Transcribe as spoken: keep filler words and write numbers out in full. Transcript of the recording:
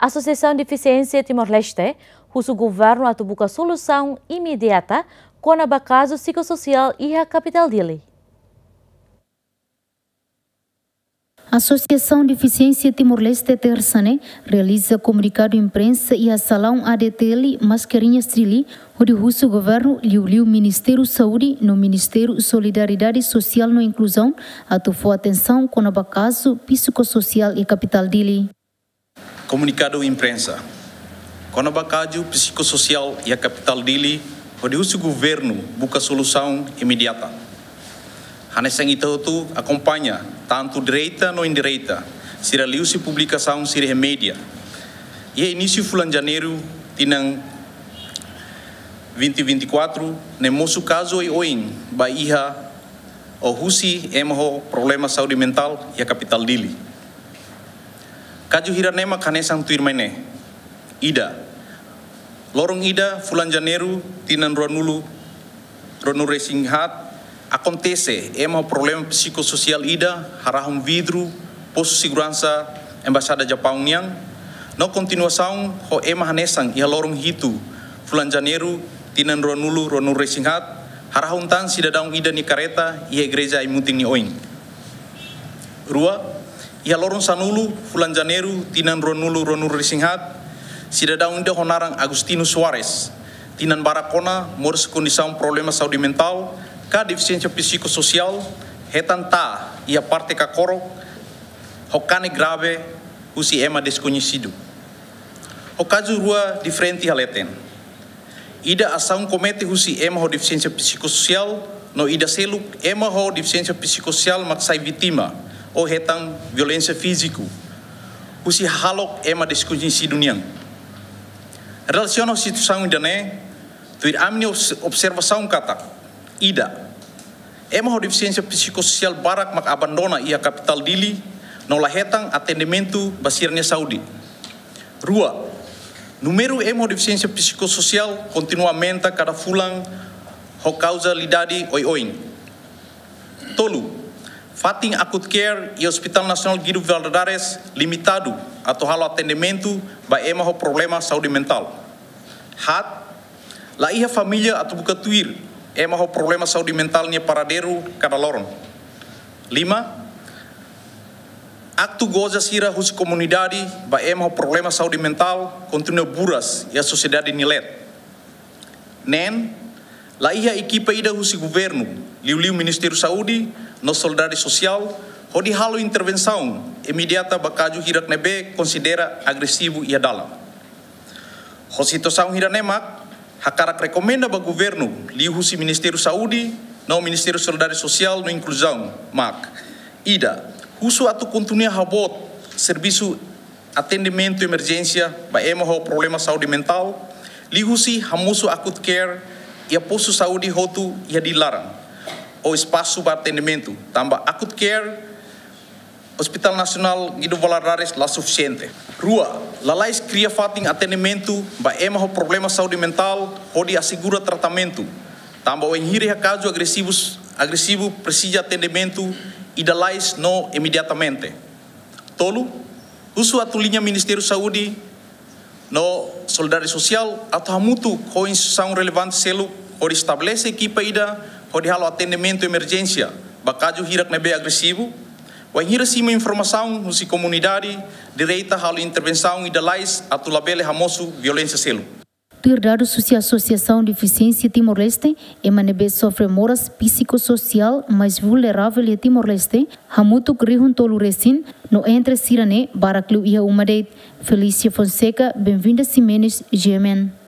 Asosiasaun Defisiénsia Timor-Leste husu governu atu buka solusaun imediata kona-ba kazu psikososiál iha kapitál Dili. Asosiasaun Defisiénsia Timor-Leste, tersa ne'e, realiza komunikadu imprensa iha salaun A D T L Mascarenhas Dili, hodi husu governu, liuliu Ministériu Saúde no Ministériu Solidariedade Sosiál no Inkluzaun, atu fó atensaun kona-ba kazu psikososiál iha kapitál Dili. Komunikadu imprensa. Kona-ba kazu psikososiál iha kapitál Dili, hodi husu governu buka solusaun imediata. Hanesan ita hotu akompaña, tantu direita no indireita, sira liuhusi publikasaun sira iha média. Iha inísiu fulan Janeiru tinan vinte vinte e quatro, ne'e mosu kazu oioin ba iha ou husi ema ho problema saúde mentál iha kapitál Dili. Kazu hirak ne'e mak hanesan tuirmai ne'e. Ida, loron ida fulan Janeiru tinan ruanulu, ruanulu-resin-haat, akontese ema ho problema psikososiál ida harahun vidru postu seguransa Embaixada Japaun nian, no kontinuasaun ho ema hanesan iha loron hitu fulan Janeiru tinan ruanulu, ruanulu-resin-haat, harahun tan sidadaun ida nia karreta iha igreja Aimutin nia oin. Rua, iha loron sanulu fulan Janeiru tinan ruanulu, ruanulu-resin-haat, sidadaun ida ho naran Agostinho Soares, tinan barak ona moris kondisaun problema saúde mentál ka defisiénsia psikososiál, hetan taa iha parte kakorok ho kanek grave husi ema deskoñesidu. Ho kazu rua diferente iha leten. Ida asaun komete husi ema ho defisiénsia psikososiál, no ida seluk ema ho defisiénsia psikososiál mak sai vítima ou hetan violénsia fíziku husi hahalok ema deskoñesidu nian. Relasiona ho situasaun ida-ne'e, tuir ami-nia obs-, observasaun katak, ida, ema ho defisiénsia psikososiál barak mak abandona iha kapitál Dili, no la hetan atendimentu ba sira-nia saúde. Rua, númeru ema ho defisiénsia psikososiál kontinua aumenta kada fulan ho kauzalidade oioin. Tolu, fatin Acute Care iha Hospital Nasionál Guido Valadares limitadu atu halo atendimentu ba ema ho problema saúde mentál. Haat, la iha família atu buka tuir ema ho problema saúde mentál nia paradeiru kada loron. Lima, aktu goza sira husi komunidade ba ema ho problema saúde mentál kontinua buras iha sosiedade nia leet. Neen, la iha ekipa ida husi governu, liuliu Ministériu Saúde no Solidariedade Sosiál, hodi halo intervensaun imediata ba kazu hirak ne'ebé konsidera agresivu iha dalan. Ho situasaun hirak ne'e mak hakarak rekomenda ba governu, liuhusi Ministériu Saúde no Ministériu Solidariedade Sosiál no Inkluzaun, mak, ida, husu atu kontinua haboot servisu atendimentu emerjénsia ba ema ho problema saúde mentál, liuhusi hamosu Acute Care iha postu saúde hotu iha Dili laran, ou espasu ba atendimentu, tanba Acute Care Hospital Nasionál Guido Valadares la sufisiente. Rua, lalais kria fatin atendimentu ba ema ho problema saúde mentál hodi asegura tratamentu, tanba wainhira iha kazu agresivus, agresivu presiza atendimentu, ida lalais no imediatamente. Tolu, husu atu liña Ministériu Saúde no Solidariedade Sosiál atu hamutuk ho instituisaun relevante seluk hodi estabelese ekipa ida hodi halo atendimentu emerjénsia ba kazu hirak ne'ebé agresivu. Wainhira simu informasaun husi komunidade, direta halo intervensaun ida lalais atu labele hamosu violénsia seluk. Tuir dadus husi Asosiasaun Defisiénsia Timor-Leste, ema ne'ebé sofre moras psikososiál mais vulneravel iha Timor-Leste, hamutuk rihun tolu resin, no entre sira-ne'e barak liu iha uma de'it. Felícia Fonseca, Benvinda Ximenes, G M N.